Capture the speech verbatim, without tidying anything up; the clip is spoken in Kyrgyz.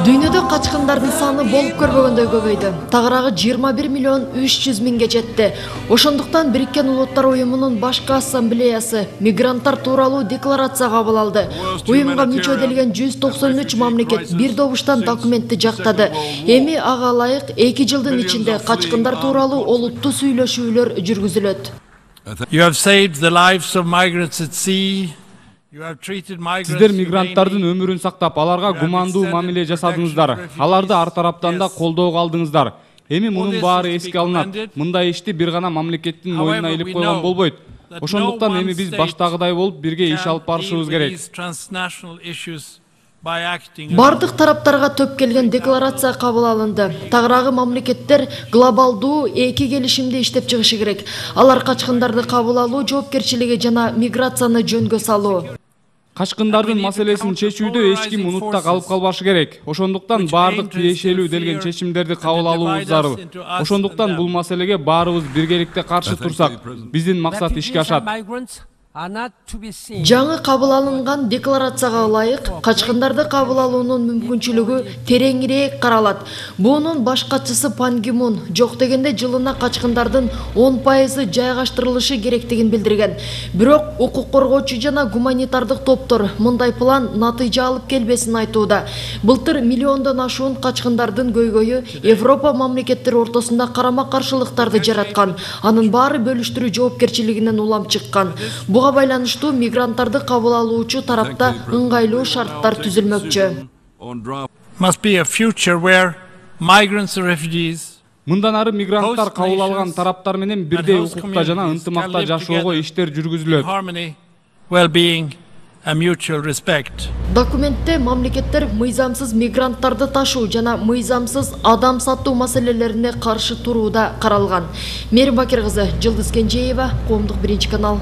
Дүйнөдө качкындардын саны болуп көрбөгөндөй көбөйдү. Тагыраагы жыйырма бир миллион үч жүз миңге жетти. Ошондуктан Бириккен Улуттар уюмунун башкы ассамблеясы мигранттар тууралуу декларация кабыл алды. Уюмга мүчө делген жүз токсон үч мамлекет бир добуштан документти жактады. Эми ага ылайык эки жылдын ичинде качкындар тууралуу олуттуу сүйлөшүүлөр жүргүзүлөт. You have saved the lives of migrants at sea. Сиздер мигранттардын өмүрүн сактап, аларга гумандуу мамиле жасадыңыздар. Аларды ар тараптан да колдоого алдыңыздар. Эми мунун баары эске алынат. Мындай ишти бир гана мамлекеттин мойнуна илип койгон болбойт. Ошондуктан эми биз баштагыдай болуп бирге иш алып барышыбыз керек. Бардык тараптарга төп келген декларация кабыл алынды. Тагыраагы мамлекеттер глобалдуу эки келишимди иштеп чыгышы керек. Алар качкындарды кабыл алуу жоопкерчилиги жана миграцияны жөнгө салуу. Качкындардын маселесин чечүүдө эч ким унутта калып калбашы керек. Ошондуктан бардык тиешелүү делген чечимдерди кабыл алуубуз зарыл. Ошондуктан бул маселеге баарыбыз биргеликте каршы турсак, биздин максат ишке ашат. Жаңы кабыл алынган декларацияга ылайык качкындарды кабыл алуунун мүмкүнчүлүгү тереңирээк каралат. Бунун баш катчысы Пан Ги Мун жок дегенде жылына качкындардын он пайызы жайгаштырылышы керектигин билдирген. Бирок укук коргоочу жана гуманитардык топтор мындай план натыйжа алып келбесин айтууда. Былтыр миллиондон ашуун качкындардын көйгөйү Европа мамлекеттери ортосунда карама-каршылыктарды жараткан. Анын баары бөлүштүрүү жоопкерчилигинен улам чыккан. Буга байланыштуу мигранттарды кабыл алуучу тарапта ыңгайлуу шарттар түзүлмөкчү. Мындан ары мигранттар кабыл алган тараптар менен бирдей укукта жана ынтымакта жашоого иштер жүргүзүлөт. Документте мамлекеттер мыйзамсыз мигранттарды ташуу жана мыйзамсыз адам сатуу маселелерине каршы турууда каралган. Мээрим Бакир кызы, Жылдыз Кенжеева, Коомдук биринчи канал.